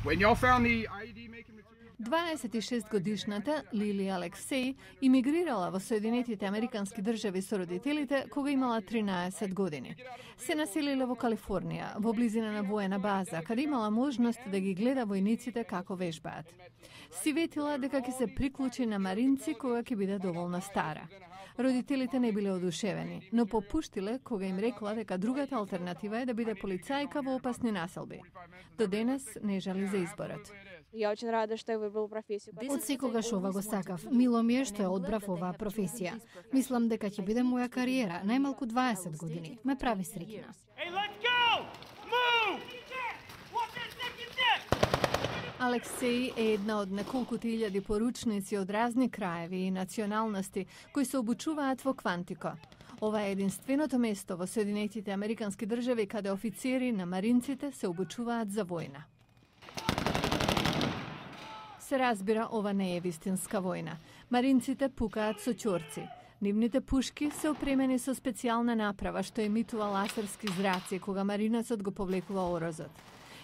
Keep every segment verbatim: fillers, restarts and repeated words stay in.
When y'all found the I E D making material... дваесет и шест годишната Лили Алексеј имигрирала во Соединетите Американски држави со родителите кога имала тринаесет години. Се населила во Калифорнија, во близина на воена база, каде имала можност да ги гледа војниците како вежбаат. Си ветила дека ќе се приклучи на маринци кога ќе биде доволно стара. Родителите не биле одушевени, но попуштиле кога им рекла дека другата алтернатива е да биде полицајка во опасни населби. До денес не жали за изборот. Ја очень рада што ја выбрал професија. Од секогаш ова го сакав. Мило ми е што ја одбрав оваа професија. Мислам дека ќе биде моја кариера, најмалку дваесет години. Ме прави среќна. Алексеј е една од неколкуте илјади поручници од разни краеви и националности кои се обучуваат во Квантико. Ова е единственото место во Соединетите Американски држави каде офицери на маринците се обучуваат за војна. Се разбира, ова не е вистинска војна. Маринците пукаат со ќорци. Нивните пушки се опремени со специјална направа што емитува ласерски зраци кога маринецот го повлекува орозот.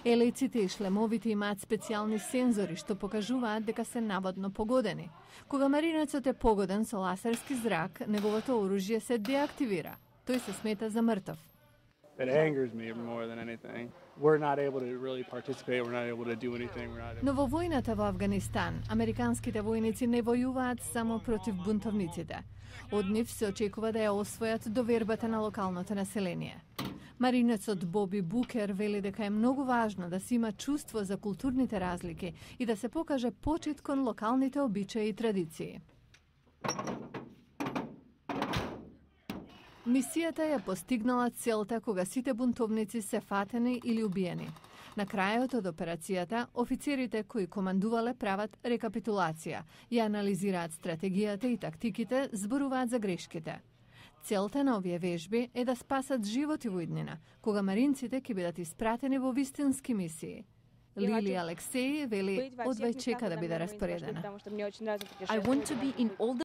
Елеците и шлемовите имаат специјални сензори што покажуваат дека се наводно погодени. Кога маринецот е погоден со ласерски зрак, неговото оружје се деактивира. Тој се смета за мртов. It angers me more than anything. We're not able to really participate, we're not able to do anything. We're not able... Но во војната во Авганистан, американските војници не војуваат само против бунтовниците. Од нив се очекува да ја освојат довербата на локалното население. Маринецот Боби Букер вели дека е многу важно да се има чувство за културните разлики и да се покаже почит кон локалните обичаи и традиции. Мисијата ја постигнала целта кога сите бунтовници се фатени или убиени. На крајот од операцијата, офицерите кои командувале прават рекапитулација, ја анализираат стратегијата и тактиките, зборуваат за грешките. Целта на овие вежби е да спасат животи во иднина, кога маринците ќе бидат испратени во вистински мисии. Лили Алексеј вели одвај чека да биде распоредена. I want to be in all the